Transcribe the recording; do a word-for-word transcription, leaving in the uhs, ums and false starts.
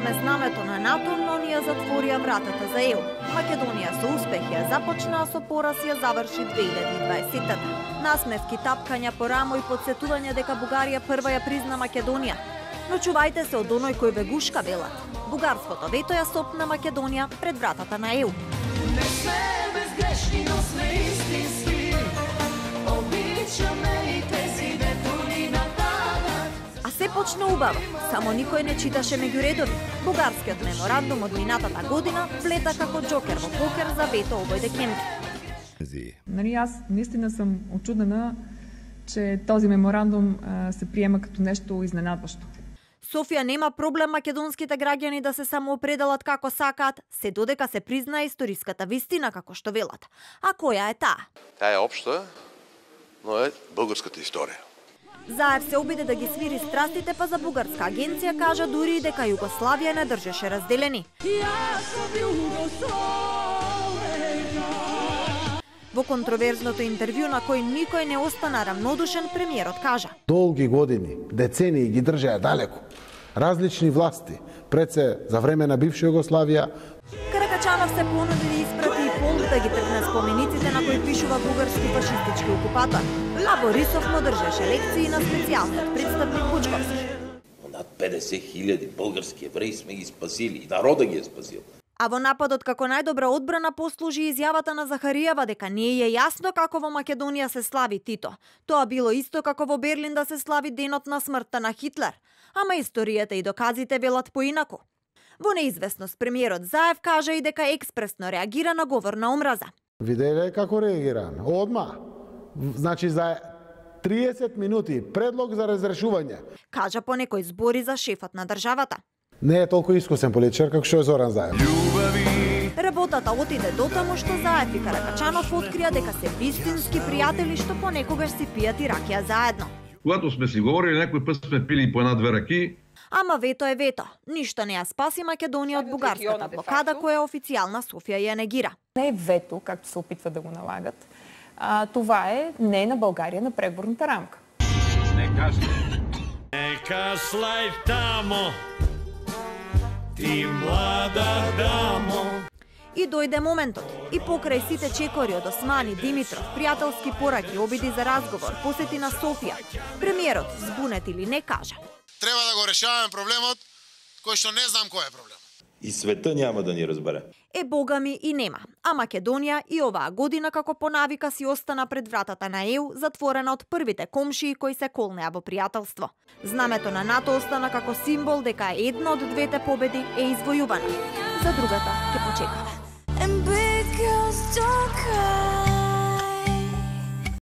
подме знамето на НАТО, но ни ја затворија вратата за Е У. Македонија со успех ја започна, со пораз ја заврши две илјади и дваесетта. Насмевки, тапкања по рамо и подсетување дека Бугарија прва ја призна Македонија. Но чувајте се од оној кој бегушка велат. Бугарското вето ја сопна Македонија пред вратата на Е У. Не сме безгрешни, но сме истински. Обичаме и тези ветрови на танат. А се почна убаво, само никој не читаше меѓу редови. Бугарскиот меморандум од минатата година влета како џокер во покер за вето овој декември. Нали, аз наистина съм очудена, че този меморандум а, се приема като нещо изненадващо. Софија нема проблем македонските граѓани да се самоопределат како сакаат, се додека се признае историската вистина како што велат. А која е таа? Таа е општа, но е бугарската историја. Заев се обиде да ги свири страстите, па за бугарска агенција кажа дури и дека Југославија не држеше разделени. Во контроверзното интервју на кој никој не остана рамнодушен, премиерот кажа: Долги години, децении ги држеа далеку. Различни власти, пред се за време на бивша Југославија. Каракачанов се понуди да испрати и Полк да ги тргне спомениците на кои пишува бугарски фашистички окупатор, а Борисов му држеше лекции на специјалниот представник Бучковски. Над педесет хиљади български евреи сме ги спасили и народа ги е спасил. А во нападот како најдобра одбрана послужи изјавата на Захариева дека не е јасно како во Македонија се слави Тито. Тоа било исто како во Берлин да се слави денот на смртта на Хитлер. Ама историјата и доказите велат поинаку. Во неизвестност премиерот Заев кажа и дека експресно реагира на говор на омраза. Виделе како реагира? Одма. Значи за триесет минути предлог за разрешување. Кажа по некој збори за шефот на државата. Не е толку искусен политичар како што е Зоран Заев. Работата отиде дотаму што Заев и Каракачанов открија дека се вистински пријатели што понекогаш си пијат и ракија заедно. Когато сме си говорили, некој пат сме пили по една-две раки. Ама вето е вето. Ништо не ја спаси Македонија од бугарската блокада која официјална Софија ја негира. Не е вето, както се опитва да го налагат. А, това е не на България на преговорната рамка. Не кажи. Нека слај тамо, ти млада дамо. И дојде моментот. И покрај сите чекори од Османи, Димитров, пријателски пораки, обиди за разговор, посети на Софија, премиерот, збунет или не, кажа: Треба да го решаваме проблемот, кој што не знам кој е проблем. И света няма да ни разбере. Е, бога ми, и нема. А Македонија и оваа година како по навика си остана пред вратата на Е У, затворена од првите комшии кои се колнеа во пријателство. Знамето на НАТО остана како символ дека една од двете победи е извојувана. За другата ќе почекаме.